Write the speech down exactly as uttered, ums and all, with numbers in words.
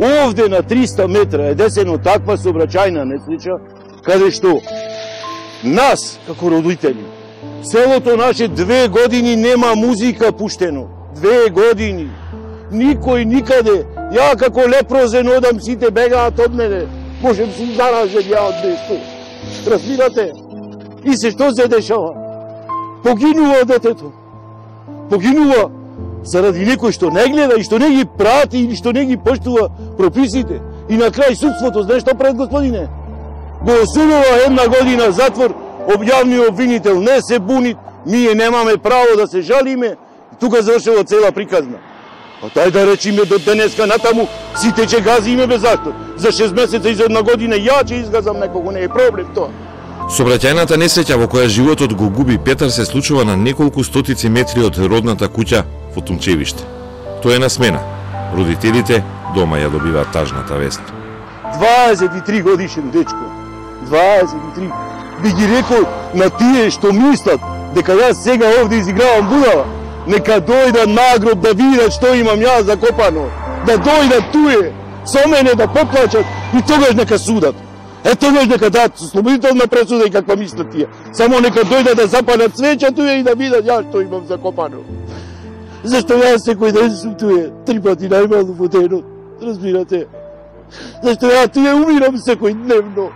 Овде на триста метра е десено таква сообраќајна несреќа, каде што нас, како родители, селото наше две години нема музика пуштено. Две години. Никој никаде. Ја како лепрозен одам, сите бегаат од мене. Можем си заражен ја од нешто. Разбирате? И се што се дешава? Погинува детето. Погинува заради некој што не гледа и што не ги прати или што не ги поштува прописите. И на крај судството, знаеш што пред господине? Го осудува една година затвор, објавниот обвинител не се буни, ние немаме право да се жалиме, тука завршува цела приказна. А тај да речиме до денеска натаму, сите ќе газиме без зашто. За шест месеца и за една година ја ќе изгазам некого, не е проблем тоа. Сообраќајната несреќа во која животот го губи Петар се случува на неколку стотици метри од родната куќа во Тумчевиште. Тој е на смена. Родителите дома ја добиваат тажната вест. дваесет и три годишен дечко. дваесет и три. Би ги рекол на тие што мислат дека јас сега овде изигравам будала, нека дојдат на гроб да видат што имам јас закопано. Да дојдат туе, со мене да поплачат и тогаш нека судат. Е тогаш нека дадат слободителна пресуда и каква мислат тие. Само нека дојдат да запалат свеќа туе и да видат јас што имам закопано. Зашто јас секој ден сум туе, три пати најмалку во денот, разбирате? Зашто ја туе умирам секој дневно.